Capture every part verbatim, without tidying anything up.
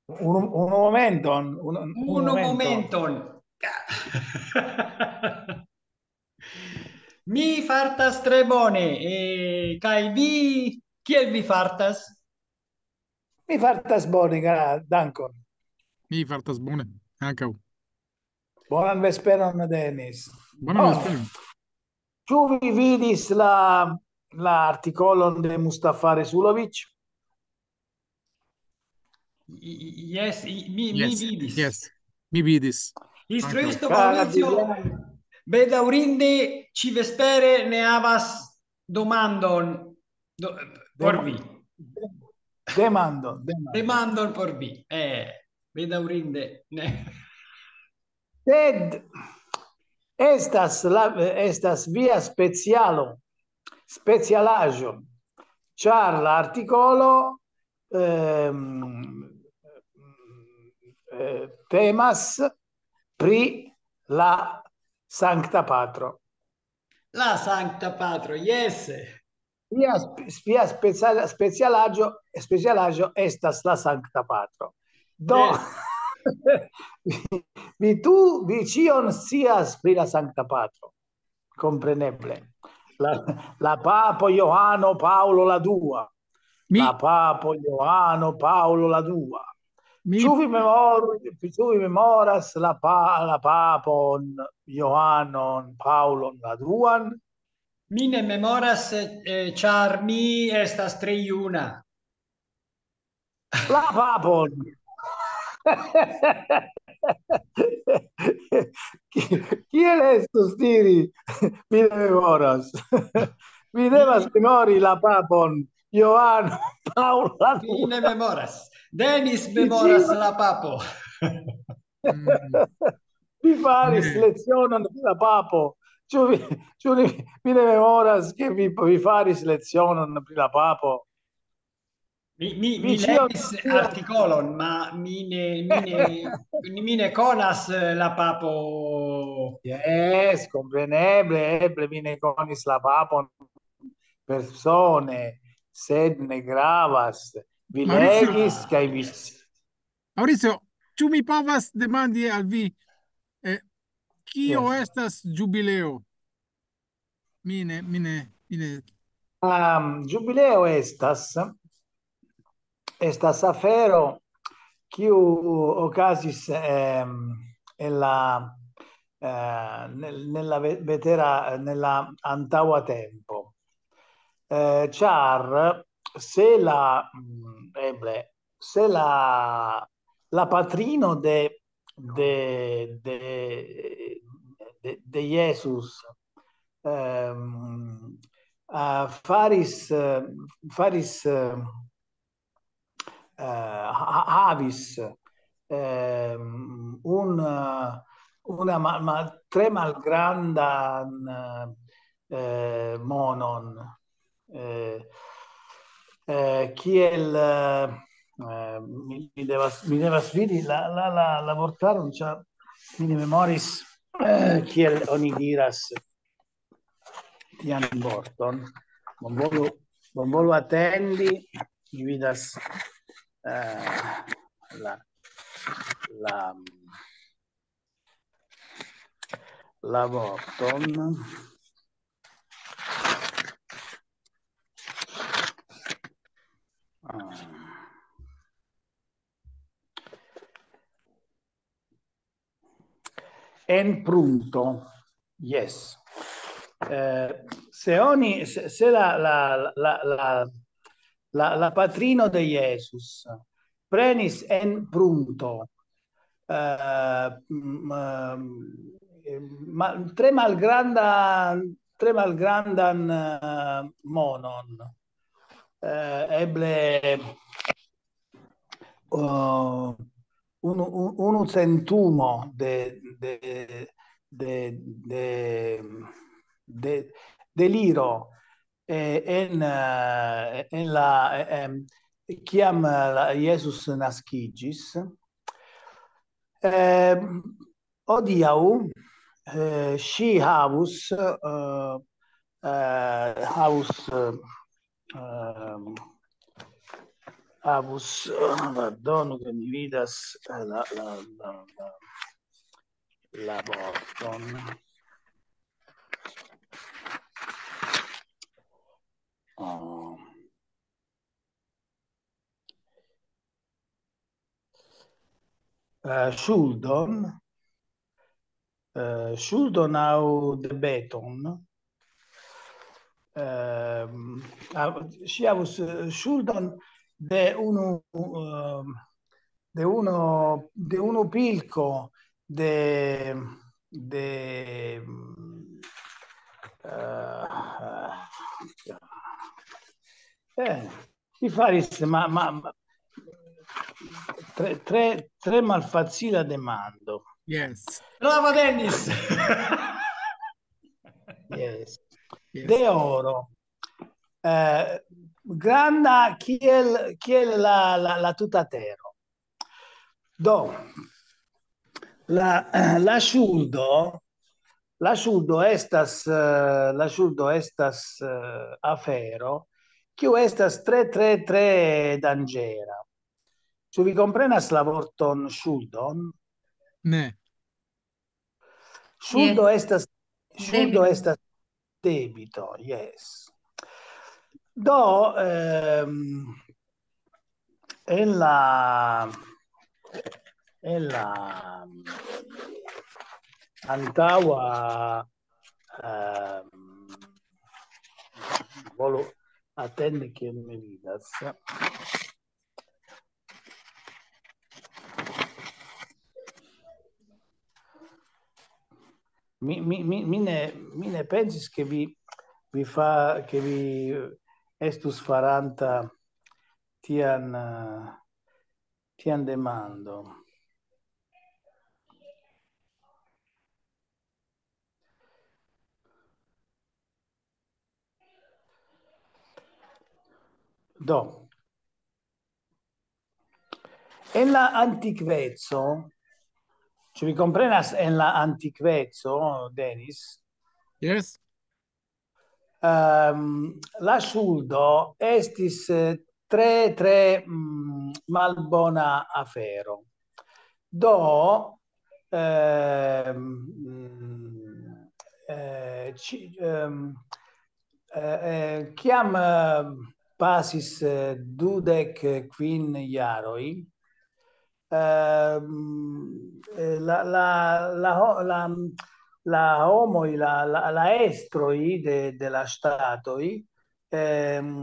Unu, unu momenton, unu, unu Unu momenton. Mi fartas tre bone, eh, kaj vi, kiel vi fartas? Mi fartas bone, gra-, dankon. Mi fartas bone, ankaŭ. Bonan vesperon, Denis. Bonan Oh, vesperon. Ĉu vi vidis la, la artikolon de Mustafa Resulovic? I- i- Yes, i- mi, mi Yes, vidis. Yes, mi vidis. Instruisto Cara Maurizio, Giuliano. Bedaŭrinde, ĉi vespere ne havas demandon do, por vi. Demandon, demandon. Demandon por vi. Eh, bedaŭrinde, ne. Sed estas la, estas via specialo, specialaĵo, ĉar la artikolo, ehm, eh, temas pri la Sankta Patro. La Sankta Patro, yes. Via sp-, via speciala-, specialaĵo, specialaĵo estas la Sankta Patro. Do, vi, tu, vi ĉion scias pri la Sankta Patro. Kompreneble. La, la papo Johano Paolo la dua. Mi, La papo Johano Paolo la dua. mi, Ĉu vi memoru-, ĉu vi memoras la pa-, la papon Johanon Paolon la duan? Mi ne memoras, eh, ĉar mi estas tre juna. La papon. Ki-, kiel estus diri? Mi ne memoras. Mi devas memori la papon. Johano Paolo la Mi ne dua. Memoras. Denis Mi memoras ĉion la papo. mm, Vi faris Ne. lecionon pri la papo. Ĉu vi, ĉu vi, vi ne memoras, ke vi, vi faris lecionon pri la papo? Mi, mi, Mi mi ĉion legis scias. Artikolon, ma mi ne, mi ne, mi ne konas, eh, la papo. Yes, kompreneble, eble vi ne konis la papon persone, sed ne gravas. Vi Maurizio. Legis kaj vi... Maurizio, ĉu mi povas demandi al vi, eh, kio Yes. estas ĝubileo? Mi ne, mi ne, mi ne. Um, ĝubileo estas, estas afero kiu okazis, ehm, en la, eh, nel-, nella ve-, vetera, nella antaŭa tempo. Eh, ĉar se la, mm, eble, se la, la patrino de, de, de, de, de Jesus, ehm, ah, faris, eh, faris, eh, eh, ha-, havis, ehm, un, eh, una ma-, ma-, tre malgrandan, eh, monon, eh, eh, kiel, eh, eh, mi, mi devas, mi devas vidi la, la, la, la vortaron, ĉar mi ne memoris, eh, kiel oni diras tian vorton. Bonvolu, bonvolu atendi, mi vidas, eh, la, la, la vorton. Ah. En prunto, yes. Eh, se oni, se, se la, la, la, la, la, la patrino de Jesus prenis en prunto, eh, m-, eh, ma-, tre malgranda, tre malgrandan, eh, monon. Eh, eble, eh, unu, un-, unu centumo de, de, de, de, de, de liro, eh, en, eh, en la, eh, em, kiam, eh, la, Jesus naskiĝis. Eh, hodiaŭ, eh, ŝi havus, eh, eh, havus, eh, ehm, Havus, eh, pardonu, ke mi vidas, eh, la, la, la, la, la vorton. Oh. Eh, ŝuldon, eh, ŝuldon aŭ debeton. Ehm, a-, ŝi havus, eh, ŝuldon de unu, ehm, de uno, de unu pilko de, de, mm, eh, eh, li faris, ma, ma, ma, tre, tre, tre malfacila demando. Yes. Brava, Dennis! Yes. Yes. De oro. Eh, granda kiel, kiel la, la, la tuta tero. Do, la, la ŝuldo, la ŝuldo estas, eh, la ŝuldo estas, eh, afero, kiu estas tre, tre, tre danĝera. Ĉu vi komprenas la vorton ŝuldon? Ne. Ŝuldo Yes. estas, ŝuldo Debito. Estas debito, yes. Do, ehm, en la, en la antaŭa, ehm, volu atendi, kiel mi vidas. Mi, mi, mi, mi ne, mi ne pensis, ke vi, vi fa, ke vi estus faranta tian, eh, tian demando. Do, en la antikveco, ĉu vi komprenas, en la antikveco, Denis? Yes. Ehm, la ŝuldo estis, eh, tre, tre, mm, malbona afero. Do, ehm, mm, eh, ci-, ehm, eh, eh, kiam, eh, pasis, eh, dudek kvin jaroj, ehm, eh, la, la, la ho-, la, la homoj, la, la, la estroj de, de la ŝtatoj, ehm,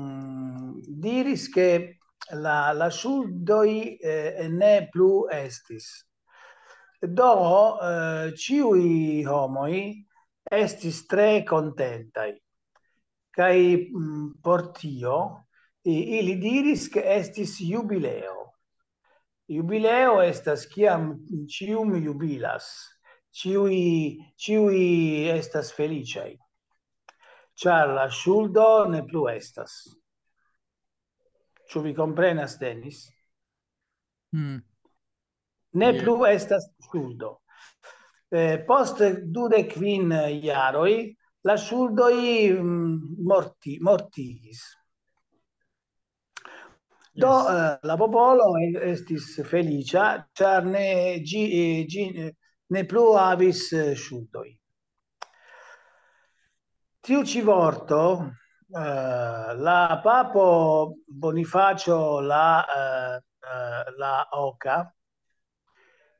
diris, ke la, la ŝuldoj, eh, ne plu estis. Do, eh, ĉiuj homoj estis tre kontentaj. Kaj, mm, por tio, i-, ili diris, ke estis jubileo. Jubileo estas kiam ĉiuj jubilas, ĉiuj, ĉiuj estas feliĉaj, ĉar la ŝuldo ne plu estas. Ĉu vi komprenas, Denis? Hmm. Ne Yeah. Plu estas ŝuldo. Eh, post dudek kvin jaroj la ŝuldoj, mm, morti-, mortigis. Do, Yes. Eh, la popolo e-, estis feliĉa, ĉar ne, ĝi, eh, ĝi, eh, ne plu havis, eh, ŝuldoj. Tiu ĉi vorto, eh, la papo Bonifacio la, eh, eh, la oka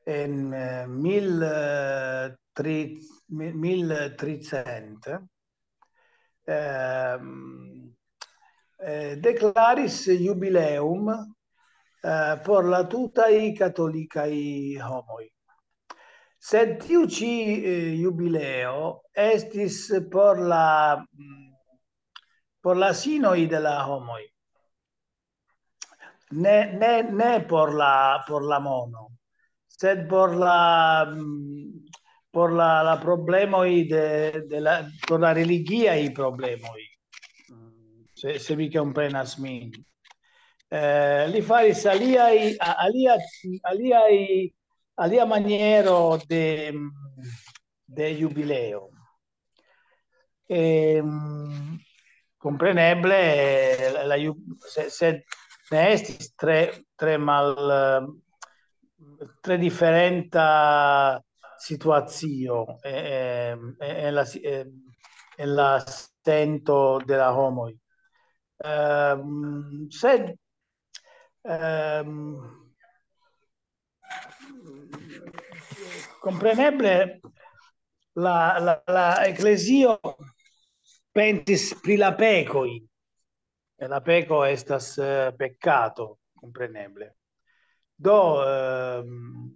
en, eh, mil, eh, tri-, mi-, mil tricent, ehm, eh, deklaris jubileum, eh, por la tutaj katolikaj homoj. Sed tiu ĉi, eh, jubileo estis por la, mm, por la sinoj de la homoj. Ne, ne, ne por la, por la mono, sed por la, mm, por la, la problemoj de, de la, por la religiaj problemoj. Se, se vi komprenas min. Eh, li faris aliaj, a-, alia, aliaj, alia maniero de, de jubileo. Ehm, kompreneble, la, la ju-, se, sed ne estis tre, tre mal, eh, tre diferenta situacio, eh, eh, en la si-, eh, en la sento de la homoj. Ehm, sed, ehm, kompreneble la, la, la eklezio pensis pri la pekoj. E la peko estas, eh, peccato, kompreneble. Do, ehm,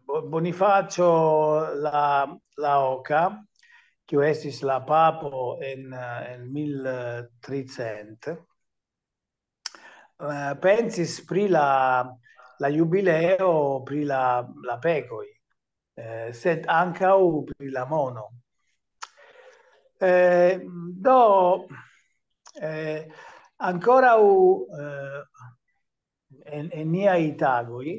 Bo-, Bonifacio la, la oka, kiu estis la papo en, eh, en mil tricent, eh, pensis pri la, la jubileo, pri la, la pekoj, eh, sed ankaŭ pri la mono. Eh, do, eh, ankoraŭ, eh, en, en niaj tagoj,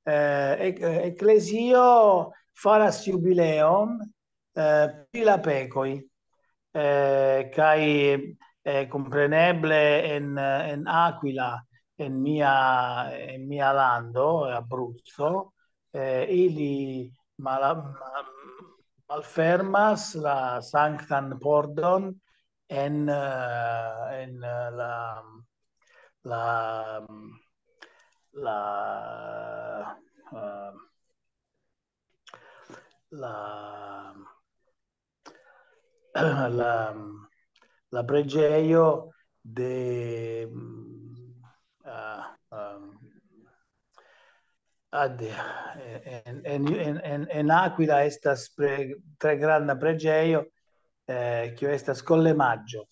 eh, ek-, eklezio faras jubileon, eh, pri la pekoj, eh, kaj, eh, kompreneble en, en Aquila, en mia, en mia lando, Abruzzo, eh, ili mala-, ma-, malfermas la Sanktan Pordon en, eh, en, eh, la, la, la, eh, la, la, la preĝejo de, mm, ah, ehm, ah, de, en, en, en, en, en Aquila estas pre-, tre granda preĝejo, eh, kiu estas Collemaggio.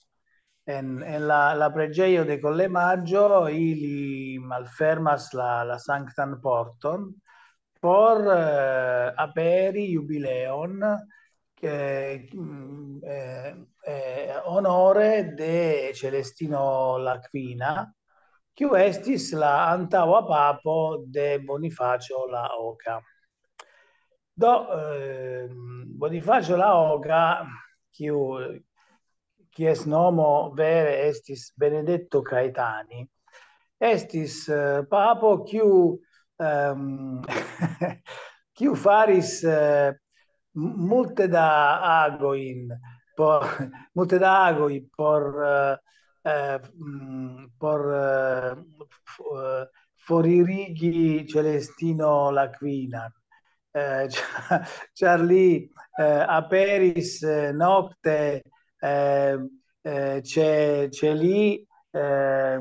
En, en la, la preĝejo de Collemaggio ili malfermas la, la Sanktan Porton por, eh, aperi jubileon, ke, mm, eh, eh, honore de Celestino la Quina, kiu estis la antaŭa papo de Bonifacio la oka. Do, ehm, Bonifacio la oka, kiu, kies nomo vere estis Benedetto Caetani, estis, eh, papo kiu, ehm, kiu faris, eh, m-, multe da agojn por, multe da agoj por, eh, eh, mm, por, eh, f-, eh, foririgi Celestino la Quina. Eh, ĉa-, ĉar li, eh, aperis, eh, nokte, eh, eh, ĉe, ĉe li, eh,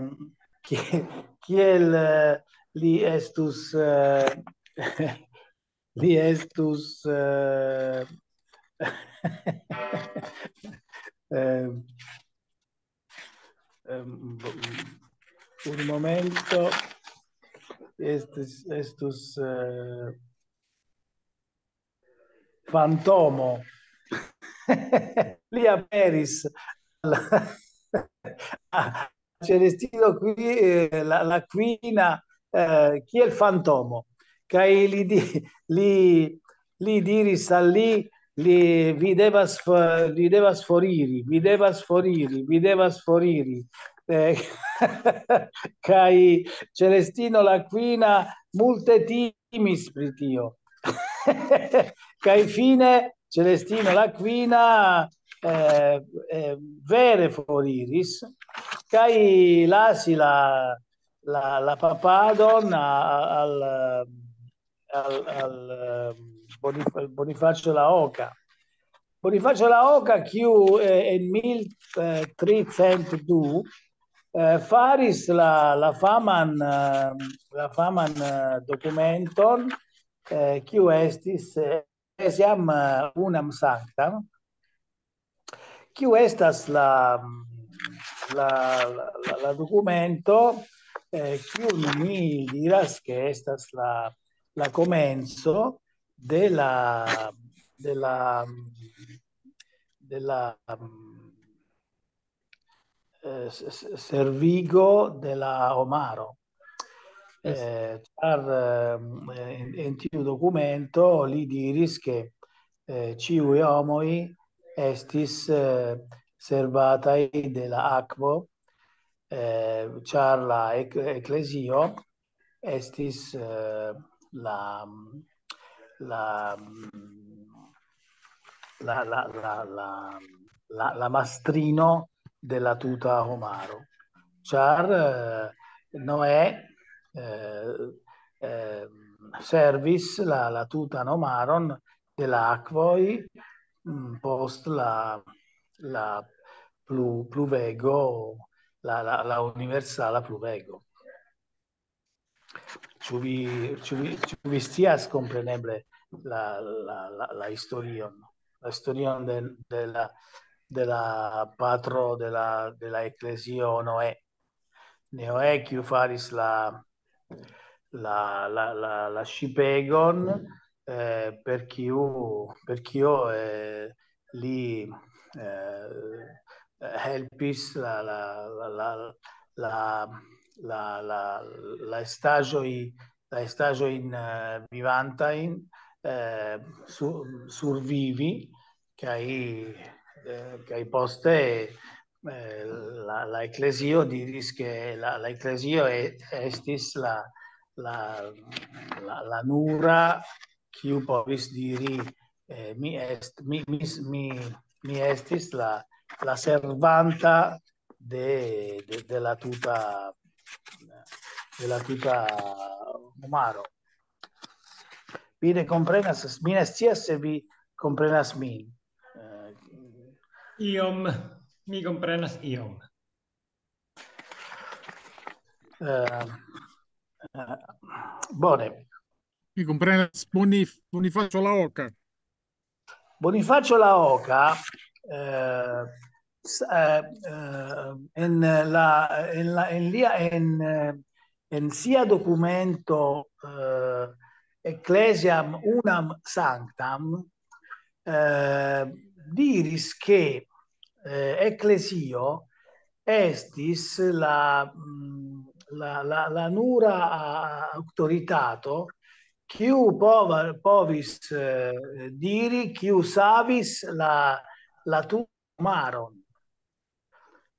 ki-, kiel, eh, li estus, eh, li estus, eh, eh, ehm, un momento, estus, estus, eh, fantomo. Li aperis al, a Celestino qui, eh, la, la Quina, eh, kiel fantomo. Kaj li di-, li, li diris al li, li, "Vi devas fo-, vi devas foriri, vi devas foriri, vi devas foriri." Eh, kaj Celestino la Quina multe timis pri tio. Kaj fine Celestino la Quina, eh, eh, vere foriris, kaj lasi la, la, la papadon a-, a-, al, al, al, eh, Bonif-, Bonifacio la oka. Bonifacio la oka, kiu, eh, en mil tricent du, eh, faris la, la faman, eh, la faman, eh, dokumenton, eh, kiu estis, eh, Ecclesiam, eh, Unam Sanctam, kiu estas la, la, la, la, la dokumento, eh, kiun mi diras, ke estas la, la komenco de la, de la, de la, eh, s-, s-, servigo de la homaro. Yes. Eh, ĉar, ehm, en, en tiu dokumento li diris, ke, eh, ĉiuj homoj estis, eh, servataj de la akvo, eh, ĉar la ek-, eklezio estis, eh, la, la, la, la, la, la, la, la mastrino de la tuta homaro. Ĉar, eh, Noè, eh, eh, servis la, la tutan homaron de la akvoj, mm, post la, la plu-, pluvego, la, la, la universala pluvego. Ĉu vi, ĉu vi, ĉu vi scias kompreneble la, la, la, la historion? La historion de, de la, de la patro de la, de la eklezio Noè. Noè, kiu faris la, la, la, la, la ŝipegon, eh, per kiu, per kio, eh, li, eh, helpis la, la, la, la, la, la, la, la estaĵoj, la estaĵojn, eh, vivantajn, eh, su-, survivi, kaj, eh, kaj poste, eh, la, la eklezio diris, ke la, la eklezio e-, estis la, la, la, la nura, kiu povis diri, eh, mi est-, mi, mi, mi, mi estis la, la servanta de, de, de la tuta, de la tuta homaro. Vi ne komprenas, mi ne scias se vi komprenas min. Eh, Iom, mi komprenas iom. eh, eh, bone. Mi komprenas Bonif-, Bonifacio La Oca. Bonifacio La Oca, eh, s-, eh, eh, en la, en la, en lia, en, eh, en sia dokumento, eh, Ecclesiam Unam Sanctam, eh, diris, ke, eh, eklezio estis la, mm, la, la, la nura, ah, aŭtoritato, kiu pova-, povis, eh, diri, kiu savis la, la tutan homaron.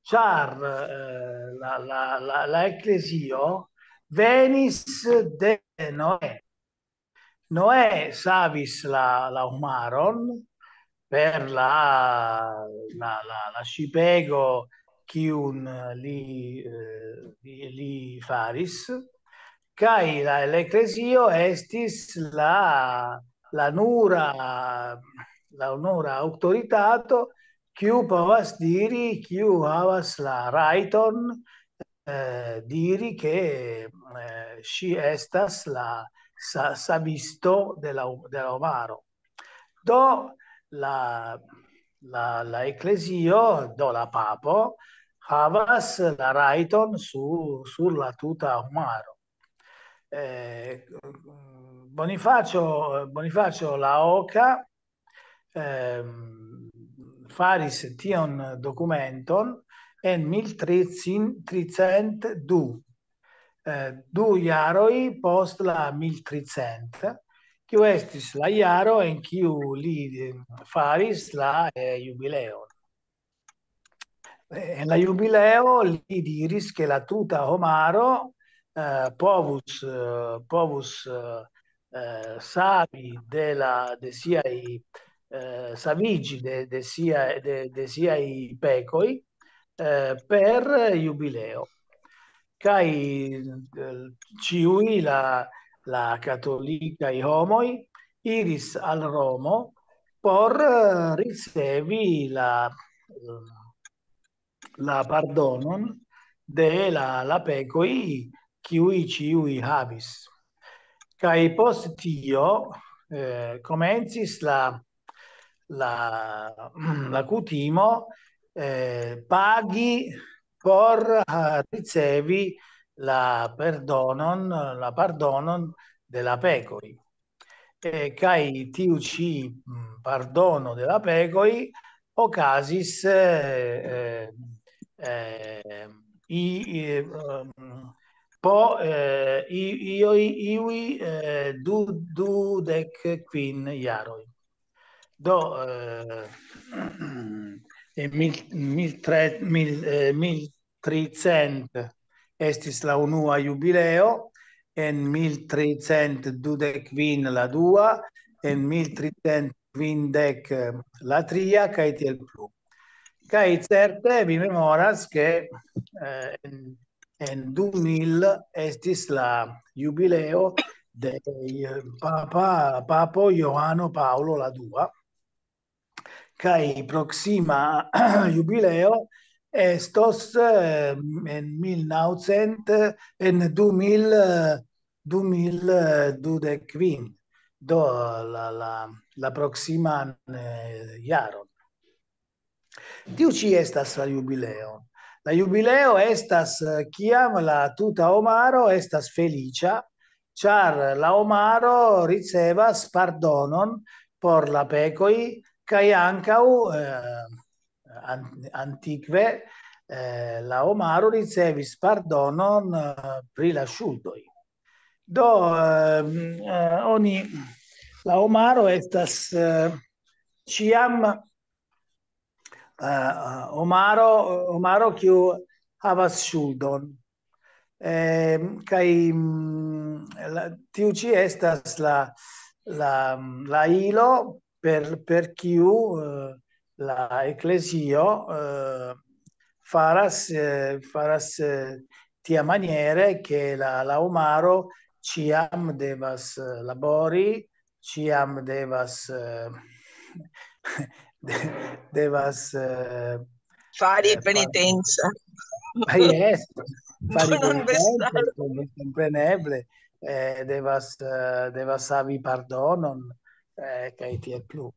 Ĉar, eh, la, la, la, la eklezio venis de Noè. Noè savis la, la homaron per la, la, la, la ŝipego, kiun li, eh, li, li faris, kaj la, la eklezio estis la, la nura, la nura aŭtoritato, kiu povas diri, kiu havas la rajton, eh, diri, ke, eh, ŝi estas la sa-, savisto de la, de la homaro. Do la, la, la eklezio, do la papo, havas la rajton su-, sur la tuta homaro. Eh, Bonifacio, Bonifacio La Oca, ehm, faris tion dokumenton en mil tricent du, eh, du jaroj post la mil tricent, kiu estis la jaro en kiu li, eh, faris la, eh, jubileon. Eh, en la jubileo li diris, ke la tuta homaro, eh, povus, eh, povus, eh, eh, savi de la, de siaj, eh, saviĝi de, de sia, de, de siaj pekoj, eh, per jubileo. Kaj, eh, ĉiuj la, la katolikaj homoj iris al Romo por, eh, ricevi la, la pardonon de la, la pekoj, kiuj ĉiuj havis. Kaj post tio, eh, komencis la, la, la kutimo, eh, pagi por, ah, ricevi la perdonon, la pardonon de la pekoj. Eh, kaj tiu ĉi, mm, pardono de la pekoj okazis, eh, eh, eh, i-, i-, ehm, po, eh, i-, ioj, iuj, eh, du-, dudek kvin jaroj. Do, eh, en mil, mil tre, mil, eh, mil tricent estis la unua jubileo, en mil tricent dudek kvin la dua, en mil tricent kvindek la tria, kaj tiel plu. Kaj certe mi memoras, ke, eh, en, en du mil estis la jubileo de, eh, papa, papo Johano Paolo la dua, kaj proksima jubileo estos, eh, en mil naŭcent, en du mil, eh, du mil dudek kvin. Do la, la, la proksiman, eh, jaron. Tiu ĉi estas la jubileo. La jubileo estas, eh, kiam la tuta homaro estas feliĉa, ĉar la homaro ricevas pardonon por la pekoj, kaj ankaŭ, eh, an-, antikve, eh, la homaro ricevis pardonon, eh, pri la ŝuldoj. Do, ehm, eh, oni, la homaro estas, eh, ĉiam, eh, homaro, homaro kiu havas ŝuldon. Ehm, kaj, mm, la, tiu ĉi estas la, la, la ilo per, per kiu, eh, la eklezio, eh, faras, eh, faras, eh, tiamaniere, ke la, la homaro ĉiam devas, eh, labori, ĉiam devas, eh, de-, devas, eh, Fari eh, far-, penitenza. Ah, yes, fari Non penitenza, vestare. Com-, kompreneble, eh, devas, eh, devas havi pardonon, eh, kaj tiel plu.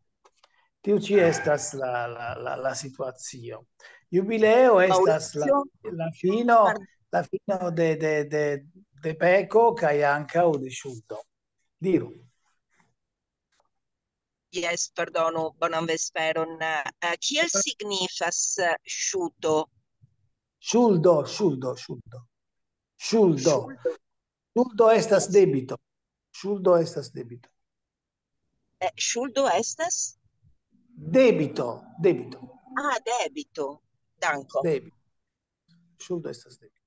Tiu ĉi estas la, la, la, la situacio. Jubileo estas la, Maurizio, la fino, par- la fino de, de, de, de peko kaj ankaŭ de ŝuldo. Diru. Yes, pardonu, bonan vesperon. Eh, kiel signifas, eh, ŝuto? Ŝuldo, ŝuldo, ŝuldo. Ŝuldo. Ŝuldo. Ŝuldo estas debito. Ŝuldo estas debito. Eh, ŝuldo estas? Debito, debito, Ah, debito. Danko. debito. Ŝuldo estas debito.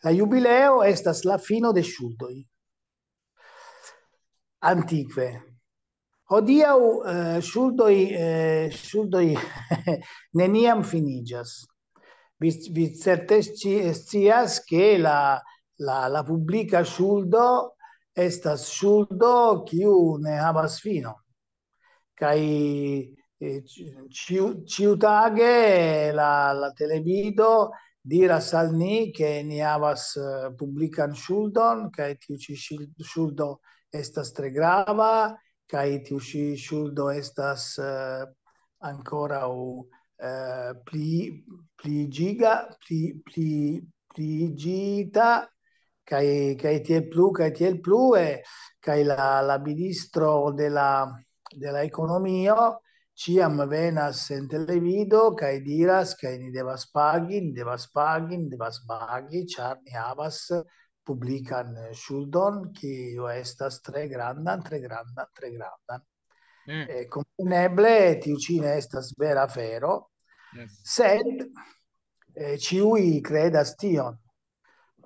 La jubileo estas la fino de ŝuldoj. Antikve. Hodiaŭ, eh, ŝuldoj, eh, ŝuldoj neniam finiĝas. Vi, vi certe sci-, scias, ke la, la, la publika ŝuldo estas ŝuldo, kiu ne havas finon. Kaj, eh, ĉi-, ĉiu-, ĉiutage la, la televido diras al ni, ke ni havas, eh, publikan ŝuldon, kaj tiu ĉi ŝil-, ŝuldo estas tre grava, kaj tiu ĉi ŝuldo estas, eh, ankoraŭ, eh, pli, pliiĝiga, pli, pli, pliiĝita, kaj, kaj tiel plu, kaj tiel plue, kaj la, la ministro de la, de la ekonomio ĉiam venas en televido kaj diras, ke ni devas pagi, ni devas pagi, ni devas pagi, ĉar ni havas publikan ŝuldon, kiu estas tre grandan, tre grandan, tre grandan. Mm. Eh, kompreneble, tiu ĉi ne estas vera afero, Yes. sed, eh, ĉiuj kredas tion.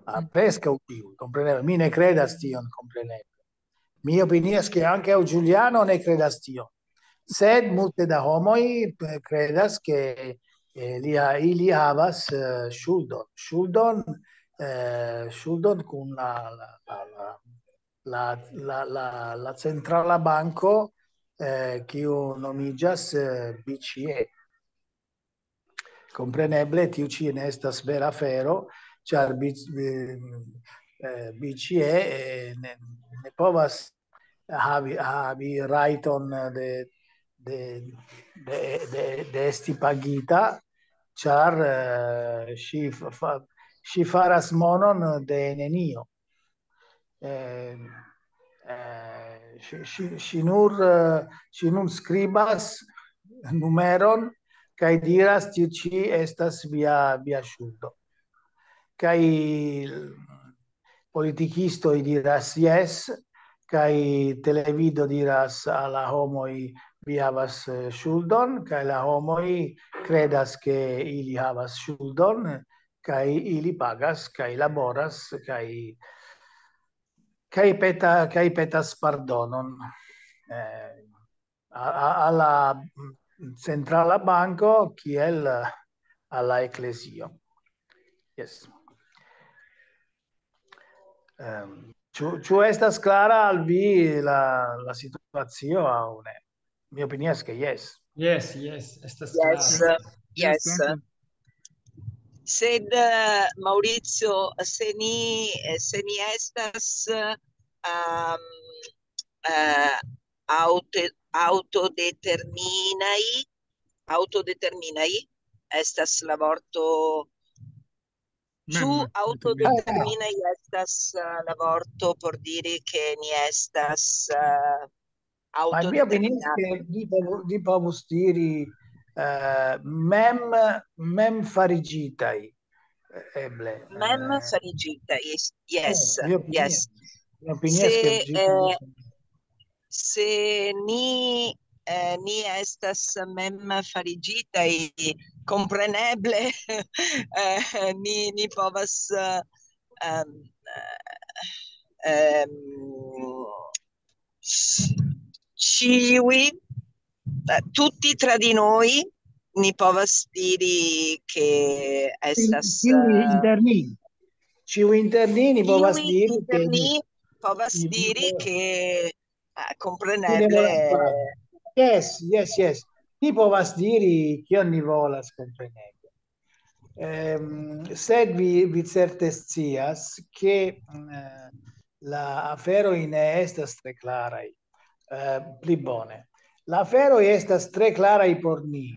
Ah, Mm. Preskaŭ ĉiuj, kompreneble. Mi ne kredas tion, kompreneble. Mi opinias, ke ankaŭ Giuliano ne kredas tion. Sed multe da homoj, eh, kredas, ke, eh, li ha-, ili havas, eh, ŝuldon. Ŝuldon, eh, ŝuldon kun la, la, la, la, la, la, la, la centrala banko, eh, kiu nomiĝas, eh, B C E. Kompreneble, tiu ĉi ne estas vera afero, ĉar B-, eh, eh, B C E, eh, ne, ne povas havi, havi rajton de, de, de, de, de esti pagita, ĉar, eh, ŝi fa-, fa-, ŝi faras monon de nenio. Eh, eh, ŝi, ŝi, ŝi nur, eh, ŝi nun skribas numeron kaj diras: "Tiu ĉi estas via, via ŝuldo." Kaj politikistoj diras: "Jes", kaj televido diras al la homoj: "Vi havas, eh, ŝuldon", kaj la homoj kredas, ke ili havas ŝuldon, kaj ili pagas, kaj laboras, kaj, kaj peta-, kaj petas pardonon, eh, a, a, a la centrala banko kiel a la eklezio. Yes. Ehm, ĉu, ĉu estas klara al vi la, la situacio aŭ ne? Mi opinias ke jes. Yes, yes, estas Yes, klare. yes. Dankon. Sed, eh, Maurizio, se ni, eh, se ni estas, ehm, eh, aŭto-, aŭtodeterminaj, aŭtodeterminaj estas la vorto, ĉu Mem, aŭtodeterminaj estas, eh, la vorto por diri ke ni estas, eh, Ma mi opinias aŭtodeterminaj? Ke vi povu-, vi povus diri, eh, mem, mem farigitaj, eh, eble. Mem Eh, farigitaj, yes, yes, eh, mi opinias, yes. mi opinias Se, ke ĝi eh, povus se ni, eh, ni estas mem farigitaj, kompreneble, eh, ni, ni povas, eh, ehm, eh, ehm, s-, ĉiuj, eh, tutti tra di noi, ni povas diri ke estas, Ĉiuj eh, inter ni. Ĉiuj inter ni, ni povas ĉiuj diri ke inter ni ni, povas ni, diri ni ke, eh, ni ne kompreneble, volas pagi. Yes, yes, yes. Ni povas diri kion ni volas, kompreneble. Ehm, sed vi, vi certe scias ke, mm, eh, la aferoj ne estas tre klaraj. Eh, pli bone. La aferoj estas tre klaraj por ni.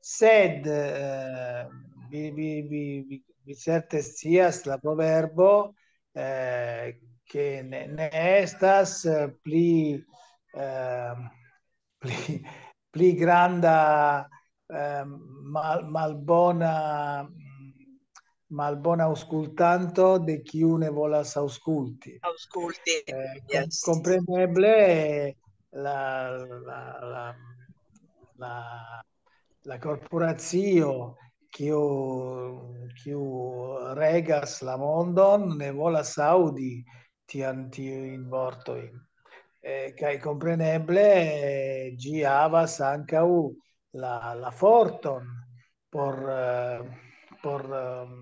Sed, eh, vi, vi, vi, vi, vi certe scias la proverbo, eh, ke ne, ne estas, eh, pli, eh, pli, pli granda, eh, mal-, malbona, mm, malbona aŭskultanto de kiu ne volas aŭskulti. Aŭskulti. Eh, kom-, Yes. Kompreneble la, la, la, la, la korporacio kiu, kiu regas la mondon ne volas aŭdi tian, tiujn vortojn. Eh, kaj kompreneble, eh, ĝi havas ankaŭ la, la forton por, eh, por, ehm,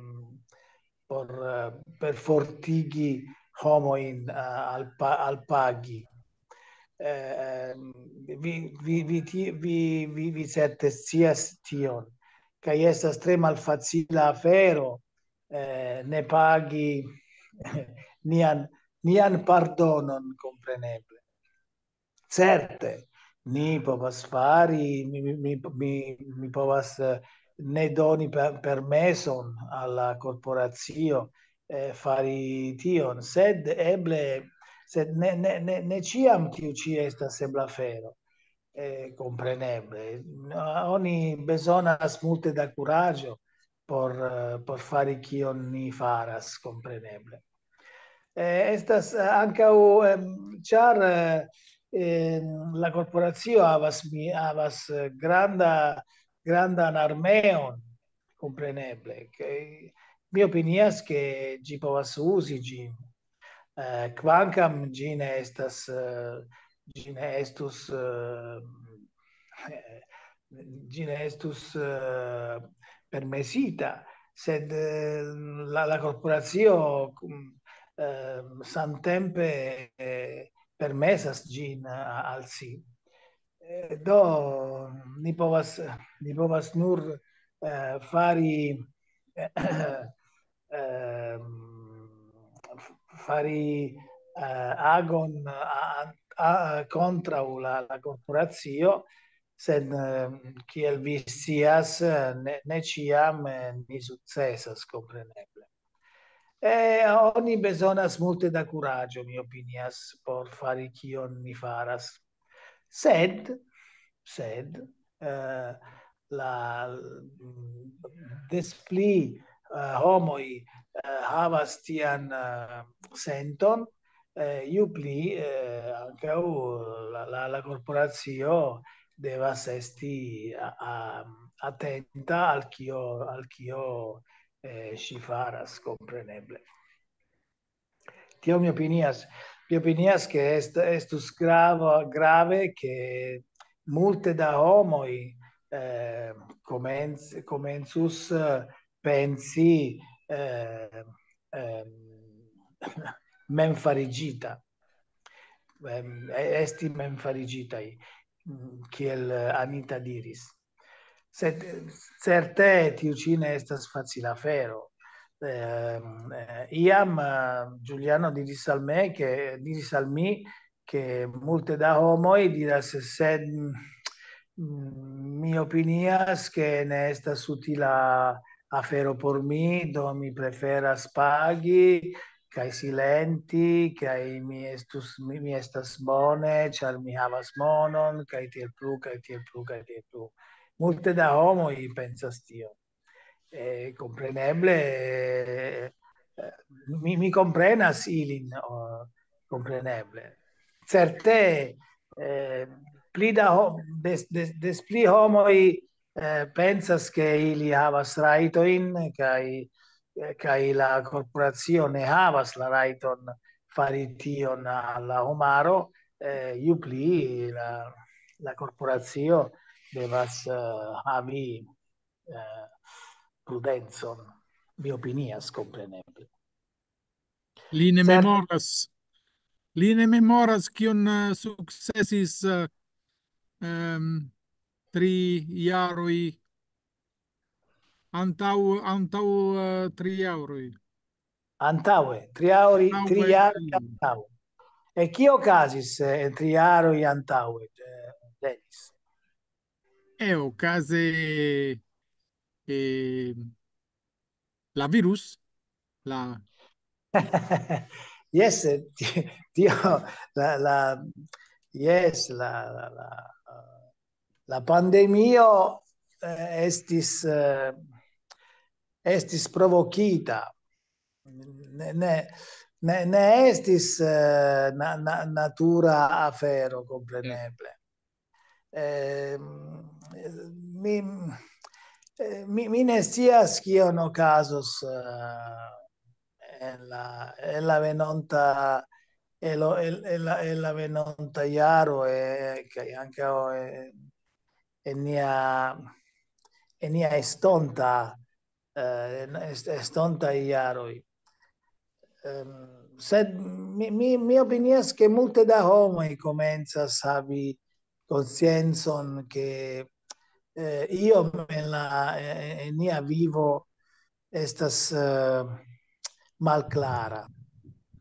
por, eh, perfortigi homojn, eh, al pa-, al pagi. Eh, ehm, vi, vi, vi, ti-, vi, vi, vi certe scias tion, kaj estas tre malfacila afero, eh, ne pagi nian, nian pardonon, kompreneble. Certe, ni povas fari, mi, mi, mi, mi, mi povas, eh, ne doni per-, permeson al la korporacio, eh, fari tion, sed eble, sed ne, ne, ne, ne ĉiam tiu ĉi estas ebla afero. Eh, kompreneble. Oni bezonas multe da kuraĝo por, eh, por fari kion ni faras, kompreneble. Eh, estas, eh, ankaŭ, em, ĉar, eh, em, la korporacio havas mi-, havas, eh, granda, grandan armeon, kompreneble. Ke mi opinias, ke ĝi povas uzi ĝin. Eh, kvankam ĝi ne estas, eh, ĝi ne estus, eh, eh, ĝi ne estus, eh, permesita, sed, eh, la, la korporacio, mm, eh, samtempe, eh, permesas ĝin a-, al si. Eh, do, ni povas, ni povas nur, eh, fari, ehm, f-, fari, eh, agon a-, a-, a-, kontraŭ la, la korporacio, sed, ehm, kiel vi scias, eh, ne, ne ĉiam, eh, ni sukcesas, kompreneble. Eh, oni bezonas multe da kuraĝo, mi opinias, por fari kion ni faras. Sed, sed, eh, la, mm, des pli, eh, homoj, eh, havas tian, eh, senton, eh, ju pli, eh, ankaŭ la, la, la korporacio devas esti a, a, atenta al kio, al kio, eh, ŝi faras, kompreneble. Tio mi opinias, mi opinias, ke est-, estus grava, grave, ke multe da homoj, eh, komenc-, komencus, eh, pensi, eh, ehm, memfariĝita, ehm, e-, esti memfariĝitaj, mm, kiel Anita diris. Sed, eh, certe tiu ĉi ne estas facila afero. Ehm, eh, iam, eh, Giuliano diris al me, ke, diris al mi, ke multe da homoj diras, sed, mm, mi opinias, ke ne estas utila afero por mi, do mi preferas pagi kaj silenti, kaj mi estus, mi, mi estas bone, ĉar mi havas monon, kaj tiel plu, kaj tiel plu, kaj tiel plu. Multe da homoj pensas tion. Eh, kompreneble, eh, mi, mi komprenas ilin, oh, kompreneble. Certe, eh, pli da ho-, des, des, des pli homoj, eh, pensas, ke ili havas rajtojn, kaj, eh, kaj la korporacio ne havas la rajton fari tion al la homaro, eh, ju pli la, la korporacio devas, eh, havi, eh, prudencon, mi opinias, kompreneble. Li ne memoras, li ne memoras, kion, eh, sukcesis, eh, ehm, tri jaroj antaŭ, antaŭ, eh, tri jaroj. Antaŭe, tri jaroj, tri Antaŭe, jaroj tri. Antaŭe. E kio okazis, eh, en tri jaroj antaŭe, eh, Denis? E okaze, eh, la virus, la Jes, ti-, tio, la, la, jes, la, la, la, la pandemio, eh, estis, eh, estis provokita. Ne, ne, ne, ne estis, eh, na, na, natura afero, kompreneble. Ehm, mi, eh, mi, mi ne scias kion okazos, eh, en la, en la venonta, en lo, en, en la, en la venonta jaro, eh, kaj ankaŭ, eh, en nia, en nia estonta, eh, en est-, estontaj jaroj. Ehm, sed mi, mi, mi opinias, ke multe da homoj komencas havi konsciencon, ke, eh, iom en la, en, en nia vivo estas, eh, malklara.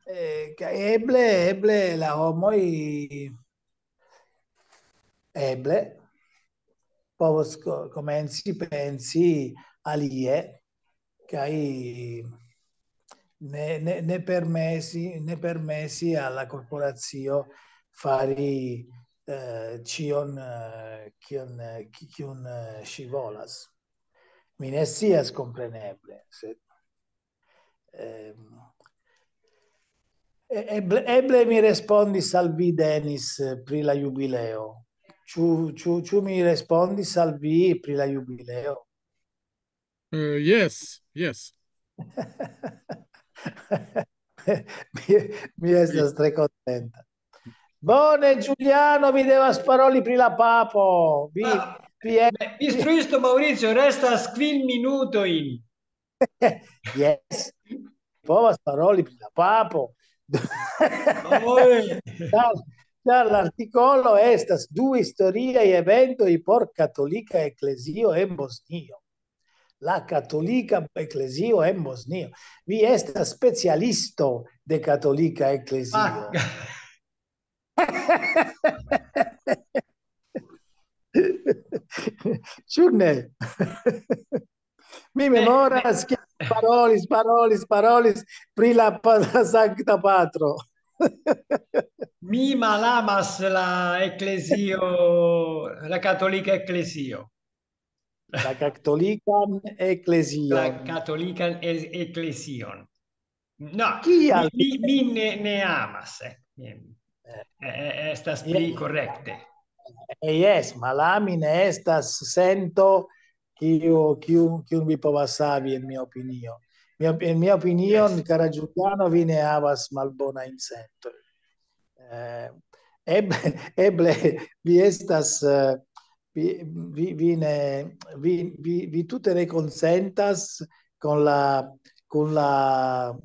Eh, kaj eble, eble la homoj eble povos ko-, komenci pensi alie, kaj ne, ne, ne permesi, ne permesi al la korporacio fari, eh, ĉion, eh, kion, eh, ki-, kiun, eh, ŝi volas. Mi ne scias, kompreneble, sed, ehm, e-, eble, eble mi respondis al vi, Denis, eh, pri la jubileo. Ĉu, ĉu, ĉu mi respondis al vi pri la jubileo? Eh, yes, yes. Mi, mi estas tre kontenta. Bone, Giuliano, vi devas paroli pri la papo. Vi, Ah, vi e- Instruisto Maurizio, restas kvin minutojn. Yes. Povas paroli pri la papo. Oj. Ĉar, ĉar l'artikolo estas du historiaj eventoj por katolika eklezio en Bosnio. La katolika eklezio en Bosnio. Vi estas specialisto de katolika eklezio. Ah, Ĉu ne? Mi memoras, ke parolis, parolis, parolis pri la pa-, Sankta Patro. Mi malamas la eklezio, la katolika eklezio. La katolikan eklezion. La katolikan e-, eklezion. No, Kial? Mi, mi, mi ne, ne amas, eh. Eh, eh, estas pli Yes. Korekte. Eh, yes, malami ne estas sento kiu, kiu, kiun vi povas havi, en mia opinio. Mia, en mia opinion, yes, cara Giuliano, vi ne havas malbonajn sentojn. Eh, eble, eble vi estas, eh, vi, vi, vi ne, vi, vi, vi tute ne konsentas con la, con la,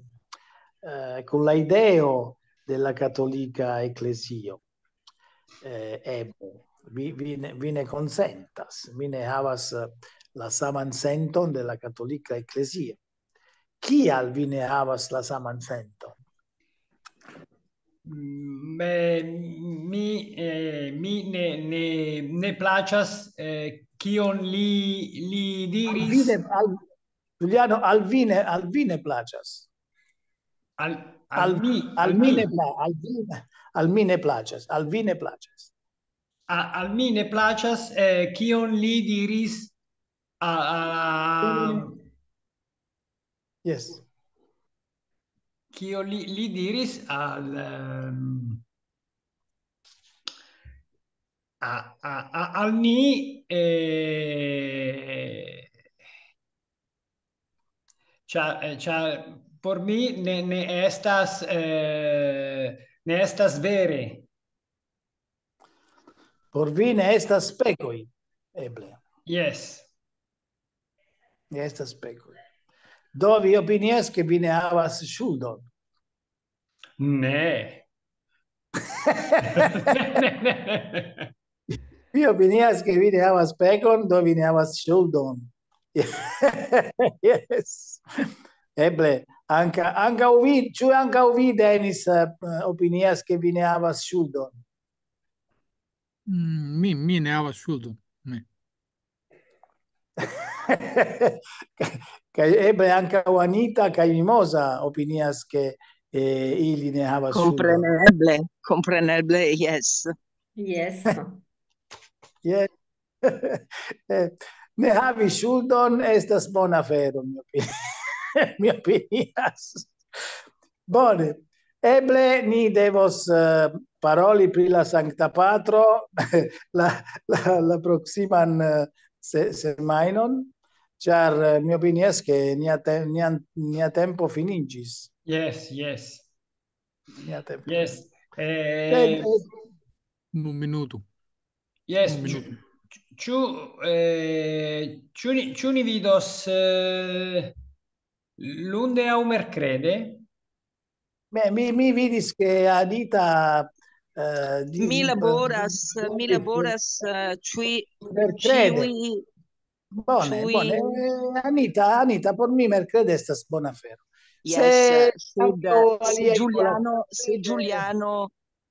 eh, con la ideo de la katolika eklezio. Eh, eble. Vi, vi ne, vi ne konsentas, vi ne havas, eh, la saman senton de la katolika eklezio. Kial vi ne havas la saman senton? Mm, eh, mi, eh, mi ne, ne, ne plaĉas, eh, kion li, li diris. Al vi ne, al, Giuliano, al vi ne, al vi ne plaĉas. Al, al, al mi, al mi ne pla-, al vi, al mi ne plaĉas, al vi ne plaĉas. A, al mi ne plaĉas, eh, kion li diris a, a, yes. Kio li, li diris al, ehm, a, a, a, al ni, eh, ĉar, eh, ĉar por mi ne, ne estas, eh, ne estas vere. Por vi ne estas pekoj, eble. Yes. Ne estas pekoj. Do vi opinias, ke vi ne havas ŝuldon? Ne. Vi opinias, ke vi ne havas pekon, do vi ne havas ŝuldon. Yes. Eble. Anka, ankaŭ vi, ĉu ankaŭ vi, Denis, eh, opinias, ke vi ne havas ŝuldon? Mm, mi, mi ne havas ŝuldon. Ne. Kaj eble ankaŭ Anita kaj Mimosa opinias, ke, eh, ili ne havas ŝuldon. Kompreneble, kompreneble, yes. Yes. Yes. Eh, ne havi ŝuldon estas bona afero, mi opi-, mi opinias. Bone, eble ni devos, eh, paroli pri la Sankta Patro la, la, la proksiman, eh, se-, semajnon, ĉar, eh, mi opinias, ke nia te-, nia, nia tempo finiĝis. Yes, yes. Nia tempo. Yes. Sed, Eh, eh, Unu minuto. yes. Un Ĉu, minuto. ĉu, eh, ĉu ni, ĉu ni vidos, eh, lunde aŭ merkrede? Beh, mi, mi vidis, ke Anita, eh, di-, Mi laboras, di-, mi laboras, eh, ĉi-, merkrede. ĉiuj, Bone, ĉiuj- bone. Eh, Anita, Anita, por mi merkrede estas bona afero. Yes, Se sed, ankaŭ se aliaj Giuliano, volas- se Giuliano,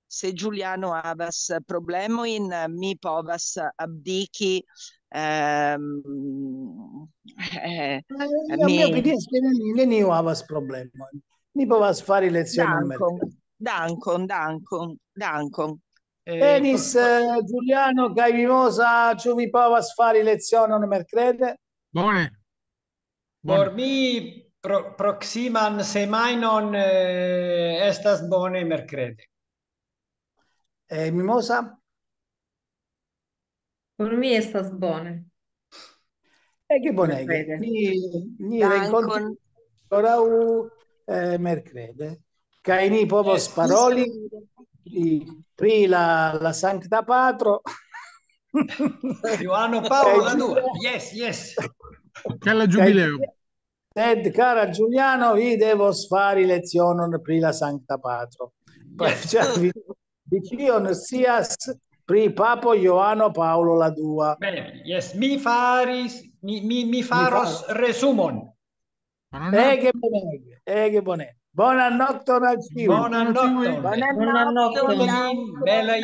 se Giuliano havas problemojn, mi povas abdiki, ehm, eh, Eh, mi, mi mi- opinias, ke neniu, neniu havas problemojn. Ni povas fari lecionon Dankon, merkrede. dankon, dankon, dankon. Eh, Denis, por, eh, Giuliano kaj Mimosa, ĉu vi povas fari lecionon merkrede? Bone. por Bone. mi pro, proksiman semajnon, eh, estas bone merkrede. Eh, Mimosa? Por mi estas bone. Ege bonege. Merkrede. Ni, ni Dankon. renkontiĝos ankoraŭ, eh, merkrede. Kaj ni povos Yes. Paroli pri, pri la, la Sankta Patro. Johano Paolo la dua. Yes, yes. Kaj la ĝubileo. Sed, cara Giuliano, vi devos fari lecionon pri la Sankta Patro. Yes. Ĉar vi, vi ĉion scias pri papo Johano Paolo la dua. Bene, yes, mi faris, mi, mi, mi faros resumon. Buonanotte. Ege bonege, ege bone. Bonan nokton al ĉiuj. Bonan Buonanotte. Nokton. Bonan Bonan nokton, nokton. dankon. Belajn